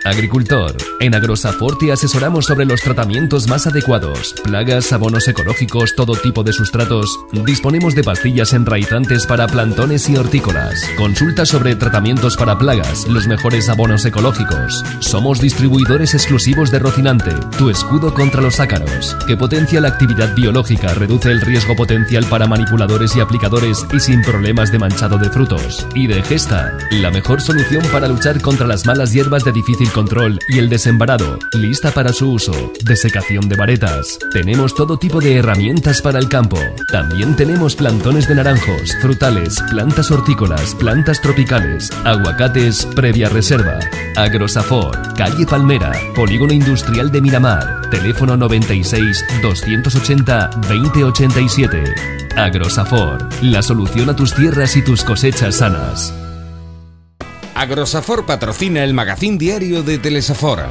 Agricultor. En Agrosafort te asesoramos sobre los tratamientos más adecuados. Plagas, abonos ecológicos, todo tipo de sustratos. Disponemos de pastillas enraizantes para plantones y hortícolas. Consulta sobre tratamientos para plagas, los mejores abonos ecológicos. Somos distribuidores exclusivos de Rocinante, tu escudo contra los ácaros, que potencia la actividad biológica, reduce el riesgo potencial para manipuladores y aplicadores y sin problemas de manchado de frutos. Y de Gesta, la mejor solución para luchar contra las malas hierbas de difícil control y el desembarado, lista para su uso. Desecación de varetas. Tenemos todo tipo de herramientas para el campo. También tenemos plantones de naranjos, frutales, plantas hortícolas, plantas tropicales, aguacates previa reserva. Agrosafort, calle Palmera, Polígono Industrial de Miramar, teléfono 96 280 2087. Agrosafort, la solución a tus tierras y tus cosechas sanas. Agrosafort patrocina el magazín diario de Telesafora.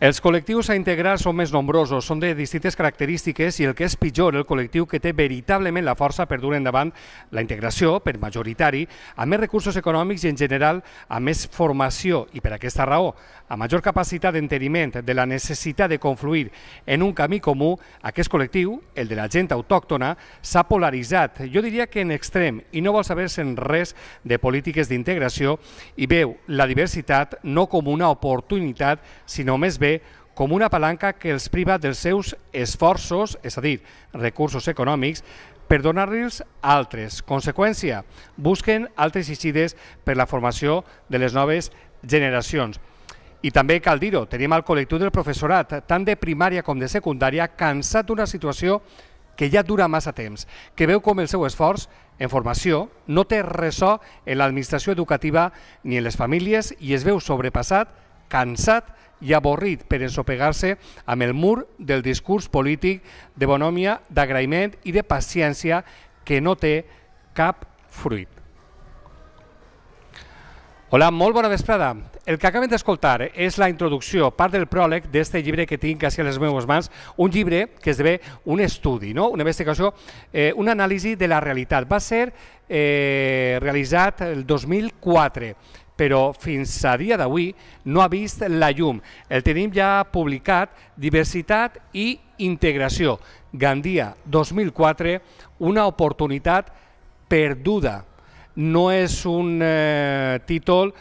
Els col·lectius a integrar són més nombrosos, són de distintes característiques i el que és pitjor, el col·lectiu que té veritablement la força per dur endavant la integració, per majoritari, amb més recursos econòmics i en general amb més formació i per aquesta raó, a major capacitat d'enteniment de la necessitat de confluir en un camí comú, aquest col·lectiu, el de la gent autòctona, s'ha polaritzat, jo diria que en extrem, i no vol saber-se'n res de polítiques d'integració i veu la diversitat no com una oportunitat, sinó més bé com una palanca que els priva dels seus esforços, és a dir, recursos econòmics, per donar-los altres. Conseqüència, busquen altres eixides per la formació de les noves generacions. I també cal dir-ho, tenim el col·lectiu del professorat, tant de primària com de secundària, cansat d'una situació que ja dura massa temps, que veu com el seu esforç en formació no té ressò en l'administració educativa ni en les famílies i es veu sobrepassat, cansat i avorrit per ensopegar-se amb el mur del discurs polític de bonhomia, d'agraïment i de paciència que no té cap fruit. Hola, molt bona vesprada. El que acabem d'escoltar és la introducció, part del pròleg d'aquest llibre que tinc quasi a les meves mans, un llibre que esdevé un estudi, una investigació, una anàlisi de la realitat. Va ser realitzat el 2004, però fins a dia d'avui no ha vist la llum. El tenim ja publicat, Diversitat i Integració, Gandia 2004, una oportunitat perduda. No és un títol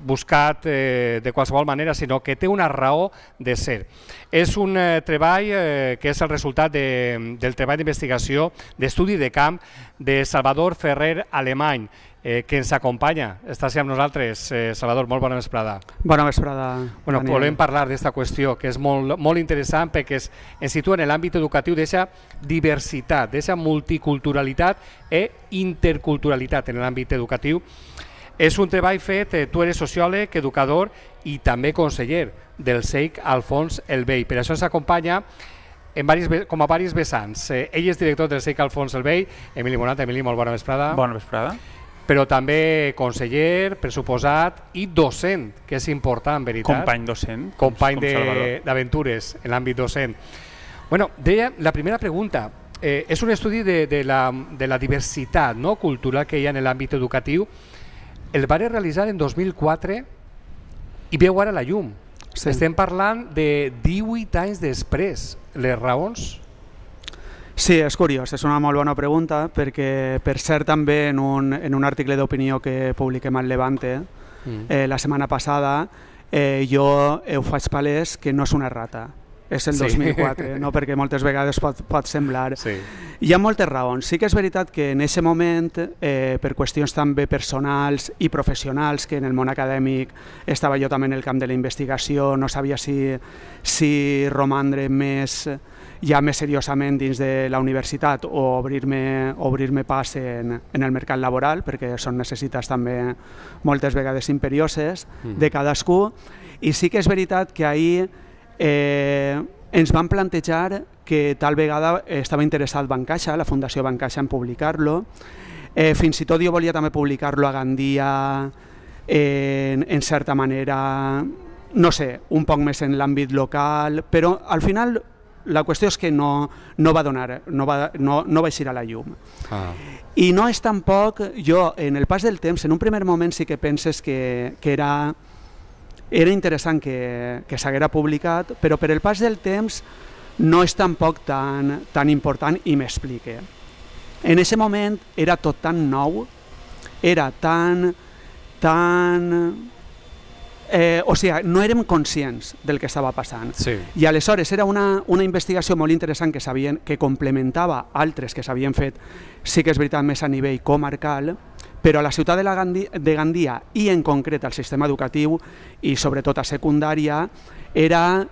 buscat de qualsevol manera, sinó que té una raó de ser. És un treball que és el resultat del treball d'investigació, d'estudi de camp de Salvador Ferrer Alemany, que ens acompanya. Estàs amb nosaltres, Salvador, molt bona vesprada. Bona vesprada, Daniel. Volem parlar d'aquesta qüestió, que és molt interessant perquè ens situa en l'àmbit educatiu d'aquesta diversitat, d'aquesta multiculturalitat i interculturalitat en l'àmbit educatiu. És un treball fet, tu eres sociòleg, educador i també conseller del CEIC Alfons el Vell. Per això ens acompanya com a diversos vessants. Ell és director del CEIC Alfons el Vell, Emili Monat. Emili, molt bona vesprada. Bona vesprada. Però també conseller, pressuposat i docent, que és important, veritat? Company docent. Company d'aventures en l'àmbit docent. Bueno, deia, la primera pregunta, és un estudi de la diversitat cultural que hi ha en l'àmbit educatiu. El va realitzar en 2004 i veu ara la llum. Estem parlant de 18 anys després. Les raons? Sí, és curiós, és una molt bona pregunta perquè, per cert, també en un article d'opinió que publiquem al Levante la setmana passada, jo ho faig palès que no és una errata, és el 2004, perquè moltes vegades pot semblar. Hi ha moltes raons. Sí que és veritat que en aquest moment, per qüestions també personals i professionals, que en el món acadèmic estava jo també en el camp de la investigació, no sabia si romandre ja més seriosament dins de la universitat o obrir-me pas en el mercat laboral, perquè són necessitats també moltes vegades imperioses de cadascú. I sí que és veritat que ahir ens van plantejar que tal vegada estava interessat Bancaixa, la Fundació Bancaixa, en publicar-lo. Fins i tot jo volia també publicar-lo a Gandia en certa manera, no sé, un poc més en l'àmbit local, però al final la qüestió és que no va eixir a la llum. I no és tampoc, jo en el pas del temps, en un primer moment sí que penses que era interessant que s'haguera publicat, però per el pas del temps no és tampoc tan important i m'explique. En aquest moment era tot tan nou, era o sigui, no érem conscients del que estava passant. Sí. I aleshores era una investigació molt interessant que complementava altres que s'havien fet, sí que és veritat, més a nivell comarcal, però a la ciutat de Gandia i en concret al sistema educatiu i sobretot a secundària era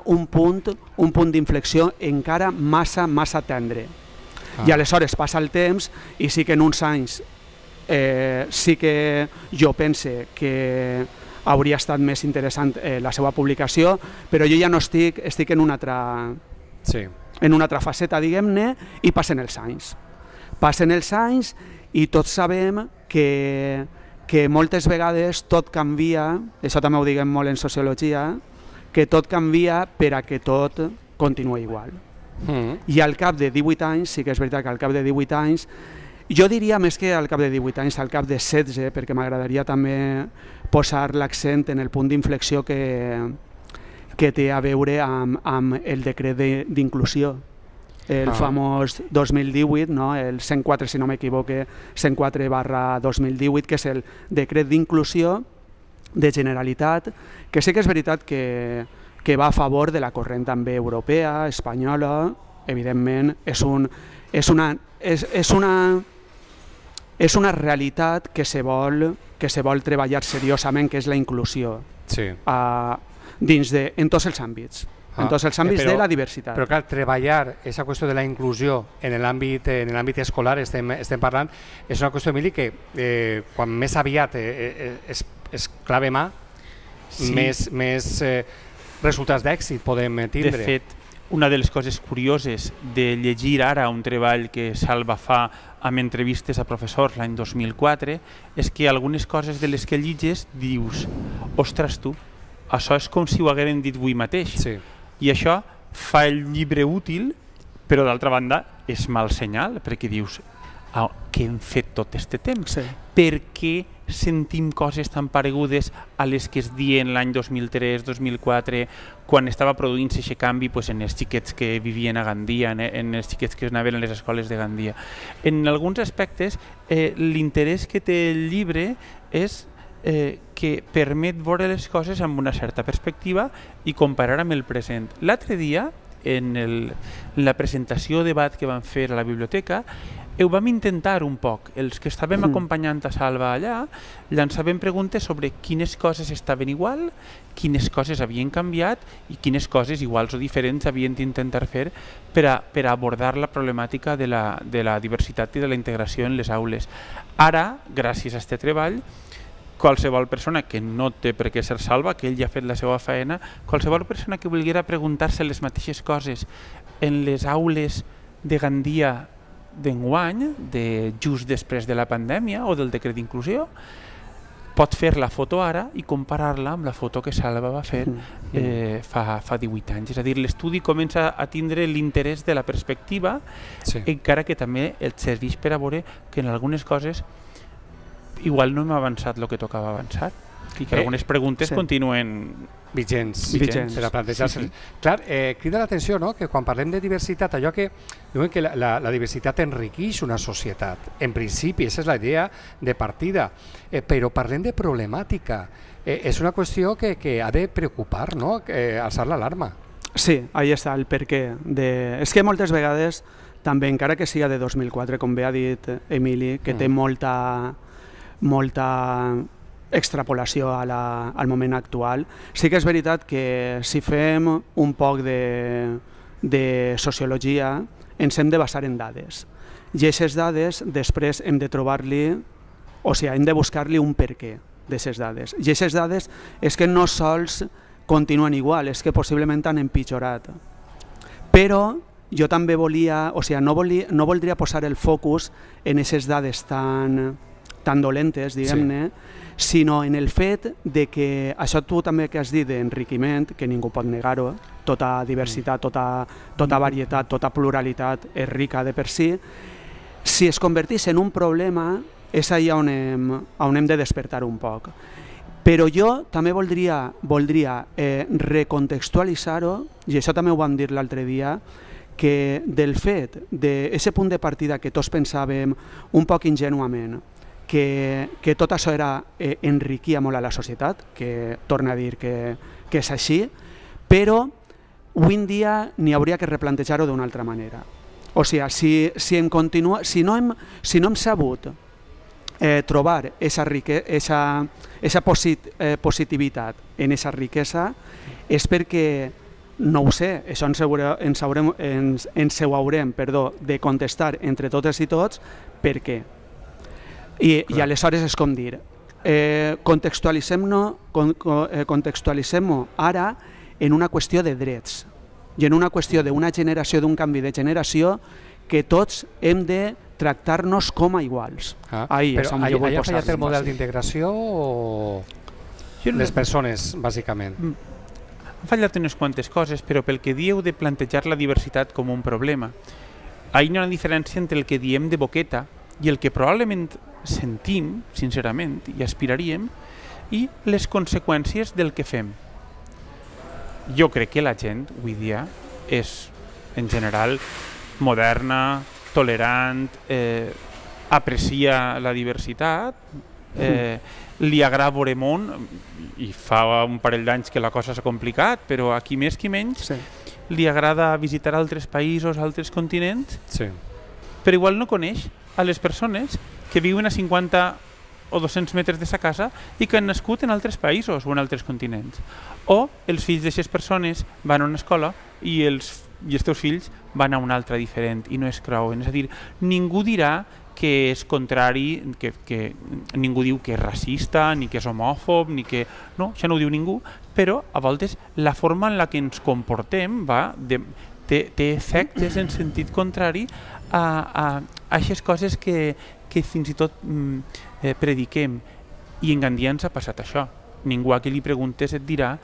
un punt d'inflexió encara massa tendre. I aleshores passa el temps i sí que en uns anys sí que jo pense que hauria estat més interessant la seva publicació, però jo ja no estic en una altra faceta, diguem-ne, i passen els anys. Passen els anys i tots sabem que moltes vegades tot canvia, això també ho diguem molt en sociologia, que tot canvia per a que tot continuï igual. I al cap de 18 anys, sí que és veritat que al cap de 18 anys, jo diria més que al cap de 18 anys, al cap de 16, perquè m'agradaria també posar l'accent en el punt d'inflexió que té a veure amb el decret d'inclusió, el famós 2018, no? El 104, si no m'equivoque, 104/2018, que és el decret d'inclusió de Generalitat, que sí que és veritat que va a favor de la corrent també europea, espanyola, evidentment és una realitat que se vol treballar seriosament, que és la inclusió en tots els àmbits. En tots els àmbits de la diversitat. Però clar, treballar aquesta qüestió de la inclusió en l'àmbit escolar, estem parlant, és una qüestió, Emili, que quan més aviat es clave mà, més resultats d'èxit podem tindre. De fet, una de les coses curioses de llegir ara un treball que Salva fa amb entrevistes a professors l'any 2004 és que algunes coses de les que lliges dius, ostres tu, això és com si ho hagueren dit avui mateix. I això fa el llibre útil, però d'altra banda és mal senyal, perquè dius, què hem fet tot aquest temps? Per què sentim coses tan paregudes a les que es diuen l'any 2003-2004, quan estava produint-se aquest canvi en els xiquets que vivien a Gandia, en els xiquets que anaven a les escoles de Gandia. En alguns aspectes, l'interès que té el llibre és que permet veure les coses amb una certa perspectiva i comparar amb el present. L'altre dia, en la presentació o debat que vam fer a la biblioteca, ho vam intentar un poc. Els que estàvem acompanyant a Salva allà llançàvem preguntes sobre quines coses estaven igual, quines coses havien canviat i quines coses iguals o diferents havien d'intentar fer per a abordar la problemàtica de la diversitat i de la integració en les aules. Ara, gràcies a aquest treball, qualsevol persona que no té per què ser Salva, que ell ja ha fet la seva feina, qualsevol persona que volguera preguntar-se les mateixes coses en les aules de Gandia d'enguany, just després de la pandèmia o del decret d'inclusió, pot fer la foto ara i comparar-la amb la foto que Salva va fer fa 18 anys. És a dir, l'estudi comença a tindre l'interès de la perspectiva, encara que també et serveix per a veure que en algunes coses igual no hem avançat el que tocava avançar i que algunes preguntes continuen vigents per a plantejar-se. Clar, crida l'atenció que quan parlem de diversitat, allò que diuen que la diversitat enriqueix una societat. En principi, aquesta és la idea de partida, però parlem de problemàtica. És una qüestió que ha de preocupar, alçar l'alarma. Sí, ahí està el perquè. És que moltes vegades, també encara que siga de 2004, com bé ha dit Emili, que té molta extrapolació al moment actual, sí que és veritat que si fem un poc de sociologia ens hem de basar en dades. I aquestes dades després hem de trobar-li, o sigui, hem de buscar-li un perquè d'aquestes dades. I aquestes dades és que no sols continuen igual, és que possiblement han empitjorat. Però jo també volia, o sigui, no voldria posar el focus en aquestes dades tan dolentes, diguem-ne, sinó en el fet de que, això tu també que has dit d'enriquiment, que ningú pot negar-ho, tota diversitat, tota varietat, tota pluralitat és rica de per si es convertís en un problema, és allà on hem de despertar un poc. Però jo també voldria recontextualitzar-ho, i això també ho vam dir l'altre dia, que del fet d'aquest punt de partida que tots pensàvem un poc ingenuament, que tot això enriquia molt a la societat, que torna a dir que és així, però avui en dia n'hi hauria que replantejar-ho d'una altra manera. O sigui, si no hem sabut trobar aquesta positivitat en aquesta riquesa, és perquè, no ho sé, això ens ho haurem de contestar entre totes i tots, per què? I aleshores és com dir, contextualitzem-ho ara en una qüestió de drets i en una qüestió d'una generació, d'un canvi de generació, que tots hem de tractar-nos com a iguals. Però ha fallat el model d'integració o les persones, bàsicament? Han fallat unes quantes coses, però pel que dieu de plantejar la diversitat com un problema, hi ha una diferència entre el que diem de boqueta i el que probablement sentim, sincerament, i aspiraríem, i les conseqüències del que fem. Jo crec que la gent, avui dia, és, en general, moderna, tolerant, aprecia la diversitat, li agrada veure món, i fa un parell d'anys que la cosa s'ha complicat, però aquí més que menys, li agrada visitar altres països, altres continents, però igual no coneix a les persones que viuen a 50 o 200 metres de sa casa i que han nascut en altres països o en altres continents. O els fills d'aquestes persones van a una escola i els teus fills van a una altra diferent i no es creuen. És a dir, ningú dirà que és contrari, que ningú diu que és racista, ni que és homòfob, ni que... No, això no ho diu ningú, però a voltes la forma en la que ens comportem té efectes en sentit contrari a aquestes coses que fins i tot prediquem. I en Gandia ens ha passat això. Ningú a qui li preguntes et dirà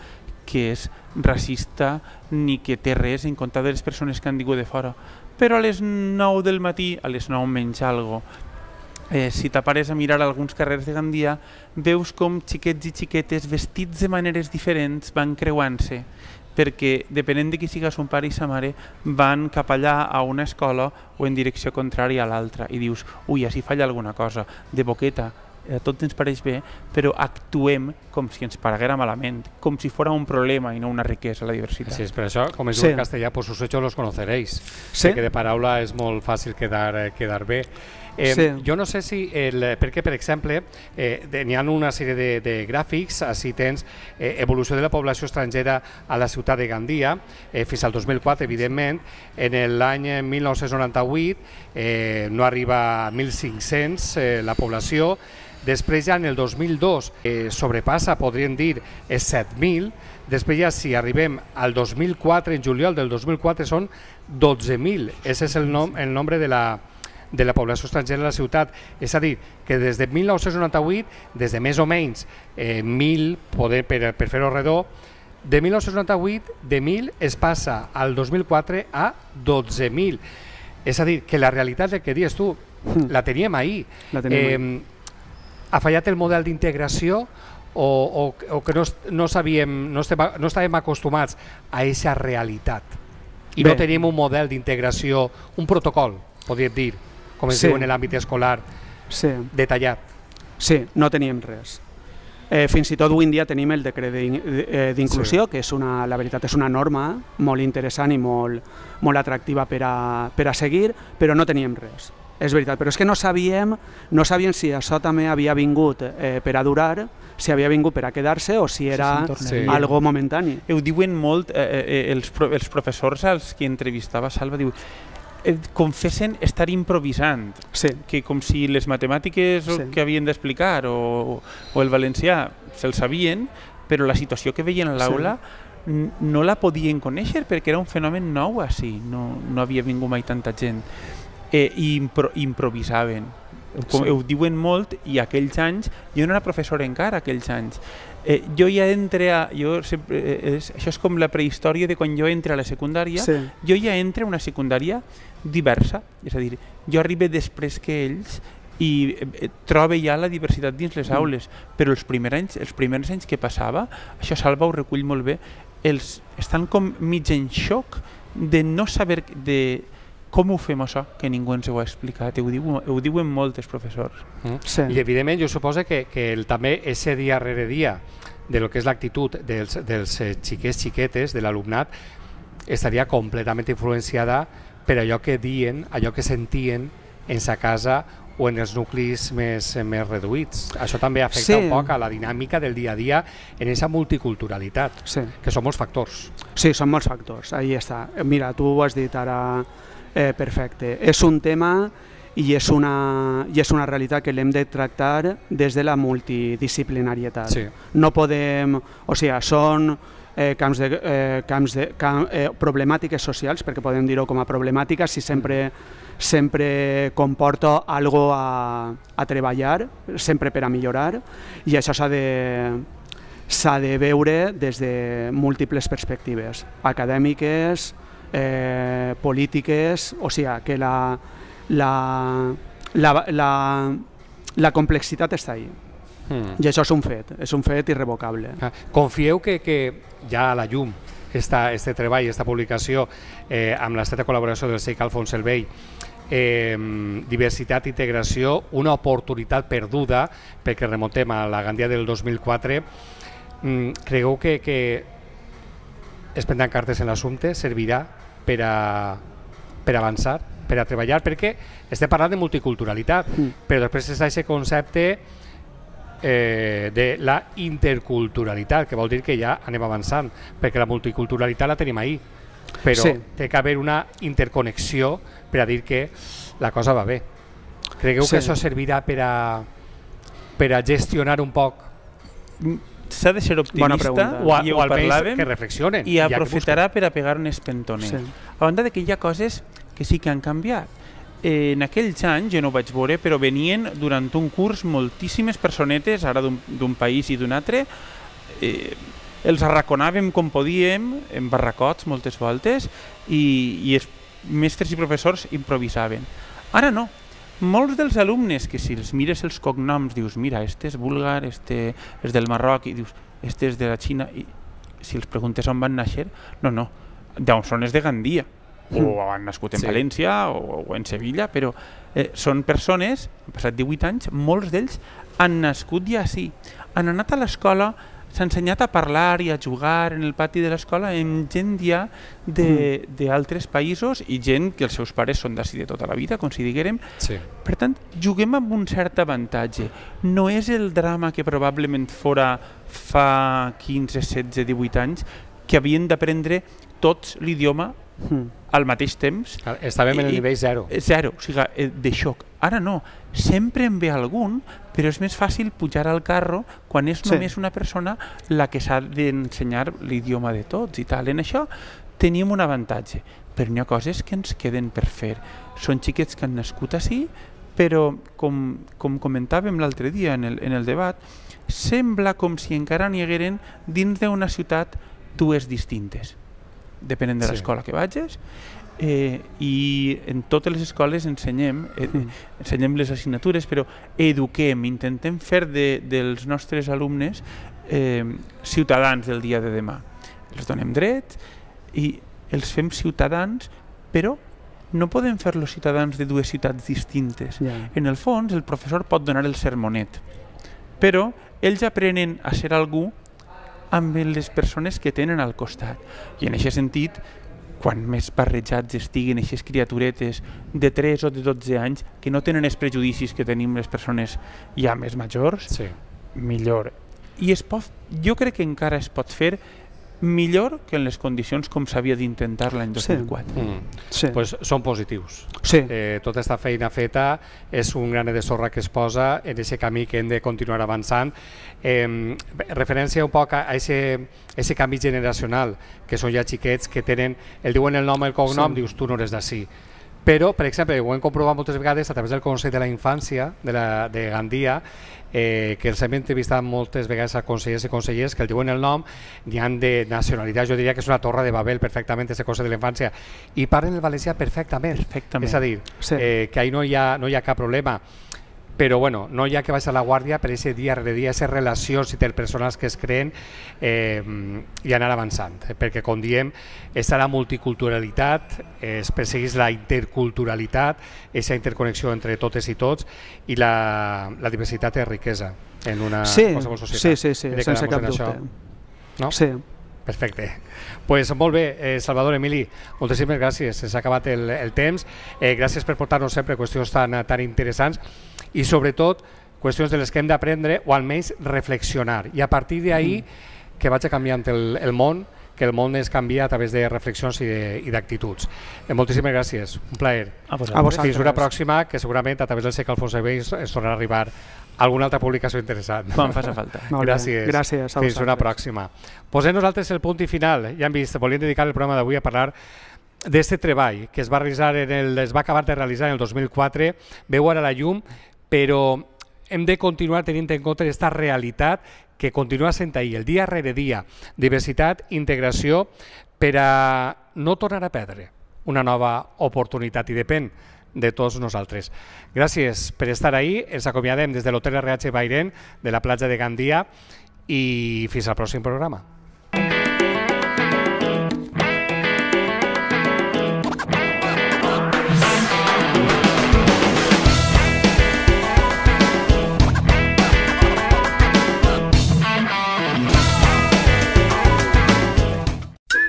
que és racista ni que té res en compte de les persones que han vingut de fora. Però a les 9 del matí, a les 9 menys algo, si t'apares a mirar alguns carrers de Gandia, veus com xiquets i xiquetes vestits de maneres diferents van creuant-se, perquè depenent de qui siga son pare i sa mare van cap allà a una escola o en direcció contrària a l'altra i dius, ui, així falla alguna cosa, de boqueta, tot ens pareix bé, però actuem com si ens pareguera malament, com si fora un problema i no una riquesa, la diversitat. Sí, és per això, com es diu en castellà, por sus hechos los conoceréis, que de paraula és molt fàcil quedar bé. Jo no sé si, perquè per exemple n'hi ha una sèrie de gràfics, així tens evolució de la població estrangera a la ciutat de Gandia fins al 2004, evidentment. En l'any 1998 no arriba a 1.500 la població. Després ja en el 2002 sobrepassa, podríem dir, 7.000. Després ja si arribem al 2004, en juliol del 2004 són 12.000. Aquest és el nombre de la població estrangera a la ciutat. És a dir, que des de 1998, des de més o menys 1.000, per fer-ho redó, de 1998, de 1.000 es passa al 2004 a 12.000. És a dir, que la realitat del que dius tu, la teníem ahir. Ha fallat el model d'integració o que no estàvem acostumats a aquesta realitat i no tenim un model d'integració, un protocol, podríem dir, com es diu en l'àmbit escolar, detallat. Sí, no teníem res. Fins i tot avui en dia tenim el decret d'inclusió, que la veritat és una norma molt interessant i molt atractiva per a seguir, però no teníem res. És veritat, però és que no sabíem si això també havia vingut per a durar, si havia vingut per a quedar-se o si era algo momentani. Ho diuen molt els professors als que entrevistava Salva, diu, confessen estar improvisant, que com si les matemàtiques que havien d'explicar o el valencià se'l sabien, però la situació que veien a l'aula no la podien conèixer perquè era un fenomen nou així, no havia vingut mai tanta gent. I improvisaven. Ho diuen molt, i aquells anys, jo no era professor encara aquells anys, jo ja entre això és com la prehistòria de quan jo entre a la secundària, jo ja entre a una secundària diversa, és a dir, jo arribo després que ells i trobo ja la diversitat dins les aules, però els primers anys que passava, això Salva ho recull molt bé, estan com mig en xoc de no saber com ho fem això, que ningú ens ho ha explicat, ho diuen molts professors. I evidentment jo suposo que també ese dia rere dia de lo que és l'actitud dels xiquets xiquetes, de l'alumnat, estaria completament influenciada per allò que diuen, allò que sentien en sa casa o en els nuclis més reduïts. Això també afecta un poc a la dinàmica del dia a dia en aquesta multiculturalitat, que són molts factors. Sí, són molts factors, ahí està. Mira, tu ho has dit ara perfecte. És un tema i és una realitat que l'hem de tractar des de la multidisciplinarietat. No podem, o sigui, són problemàtiques socials, perquè podem dir-ho com a problemàtiques si sempre comporta algo a treballar, sempre per a millorar, i això s'ha de veure des de múltiples perspectives, acadèmiques, polítiques, o sigui que la complexitat està ahí. I això és un fet irrevocable. Confieu que ja a la llum este treball, aquesta publicació amb l'estreta col·laboració del CEIC Alfons el Vell, diversitat i integració, una oportunitat perduda, perquè remontem a la Gandia del 2004, creieu que es prendran cartes en l'assumpte, servirà per avançar, per a treballar, perquè estem parlant de multiculturalitat, però després és aquest concepte de la interculturalitat, que vol dir que ja anem avançant, perquè la multiculturalitat la tenim ahí, però té que haver una interconnexió per a dir que la cosa va bé. Cregueu que això servirà per a gestionar un poc? S'ha de ser optimista o almenys que reflexionen i aprofitarà per a pegar un espentoner. A banda que hi ha coses que sí que han canviat. En aquells anys, jo no ho vaig veure, però venien durant un curs moltíssimes personetes, ara d'un país i d'un altre, els arraconàvem com podíem, en barracots moltes voltes, i els mestres i professors improvisaven. Ara no. Molts dels alumnes que si els mires els cognoms dius, mira, este és búlgar, este és del Marroc, i dius, este és de la Xina, i si els preguntes on van néixer, no, d'on són és de Gandia, o han nascut en València o en Sevilla, però són persones, han passat 18 anys, molts d'ells han nascut ja així, han anat a l'escola, s'ha ensenyat a parlar i a jugar en el pati de l'escola amb gent ja d'altres països i gent que els seus pares són d'ací de tota la vida, com si diguérem. Per tant, juguem amb un cert avantatge. No és el drama que probablement fora fa 15, 16, 18 anys, que havien d'aprendre tots l'idioma al mateix temps. Estàvem en el nivell zero. Zero, o sigui, de xoc. Ara no, sempre en ve algun, però és més fàcil pujar al carro quan és només una persona la que s'ha d'ensenyar l'idioma de tots i tal. En això tenim un avantatge, però n'hi ha coses que ens queden per fer. Són xiquets que han nascut així, però com comentàvem l'altre dia en el debat, sembla com si encara n'hi hagueren dins d'una ciutat dues distintes, depenent de l'escola que vagis, i en totes les escoles ensenyem les assignatures, però eduquem, intentem fer dels nostres alumnes ciutadans del dia de demà. Els donem drets i els fem ciutadans, però no podem fer-los ciutadans de dues ciutats distintes. En el fons, el professor pot donar el sermonet, però ells aprenen a ser algú amb les persones que tenen al costat. I en aquest sentit, quan més barrejats estiguen aquestes criaturetes de 3 o de 12 anys que no tenen els prejudicis que tenim les persones ja més majors, millor. I jo crec que encara es pot fer millor que en les condicions com s'havia d'intentar l'any 2004. Sí. Pues són positius. Sí. Tota aquesta feina feta és un granet de sorra que es posa en aquest camí que hem de continuar avançant. Referència un poc a aquest canvi generacional, que són ja xiquets que tenen, el diuen el nom i el cognom, dius tu no eres d'ací. Però, per exemple, ho hem comprovat moltes vegades a través del Consell de la Infància de Gandia, que els hem entrevistat moltes vegades a consellers i consellers que el diuen el nom, n'hi han de nacionalitat, jo diria que és una torre de Babel perfectament, aquest Consell de la Infància, i parlen el valencià perfectament. És a dir, que ahí no hi ha cap problema. Però bueno, no hi ha que baixar la guàrdia per aquest dia rere dia, aquestes relacions interpersonals que es creen i anar avançant, perquè com diem, està la multiculturalitat, es persegueix la interculturalitat, aquesta interconnexió entre totes i tots, i la diversitat és riquesa en una qualsevol societat. Sí, sense cap dubte. No? Sí. Perfecte. Pues molt bé, Salvador, Emili, moltíssimes gràcies, s'ha acabat el temps, gràcies per portar-nos sempre qüestions tan interessants i sobretot qüestions de les que hem d'aprendre o almenys reflexionar i a partir d'ahir que vagi canviant el món, que el món es canvia a través de reflexions i d'actituds. Moltíssimes gràcies, un plaer. A vosaltres. Fins una pròxima, que segurament a través del segle Alfonso X ens tornarà a arribar alguna altra publicació interessant. Quan faci falta. Gràcies. Fins una pròxima. Posem nosaltres el punt i final. Ja hem vist, volíem dedicar el programa d'avui a parlar d'aquest treball que es va acabar de realitzar en el 2004, veu ara la llum, però hem de continuar tenint en compte aquesta realitat que continua sent ahir, el dia rere dia, diversitat, integració, per a no tornar a perdre una nova oportunitat i depèn de tots nosaltres. Gràcies per estar ahí, ens acomiadem des de l'Hotel RH Bairén de la platja de Gandia i fins al pròxim programa.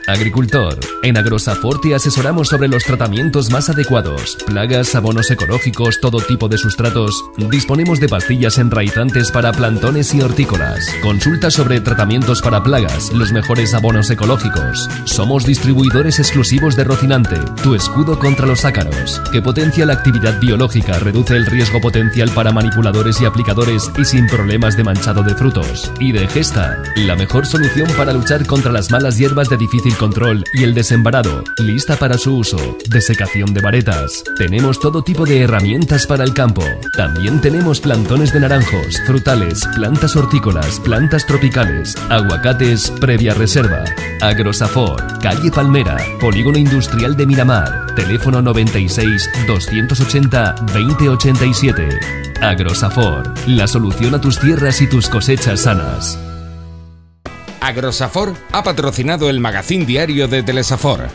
Agricultor. En Agrosafort te asesoramos sobre los tratamientos más adecuados, plagas, abonos ecológicos, todo tipo de sustratos. Disponemos de pastillas enraizantes para plantones y hortícolas. Consulta sobre tratamientos para plagas, los mejores abonos ecológicos. Somos distribuidores exclusivos de Rocinante, tu escudo contra los ácaros, que potencia la actividad biológica, reduce el riesgo potencial para manipuladores y aplicadores y sin problemas de manchado de frutos. Y de Gesta, la mejor solución para luchar contra las malas hierbas de difícil control y el desembarado, lista para su uso. Desecación de varetas. Tenemos todo tipo de herramientas para el campo. También tenemos plantones de naranjos, frutales, plantas hortícolas, plantas tropicales, aguacates previa reserva. Agrosafort, calle Palmera, Polígono Industrial de Miramar, teléfono 96 280 2087. Agrosafort, la solución a tus tierras y tus cosechas sanas. Agrosafort ha patrocinado el magazín diario de Telesafor.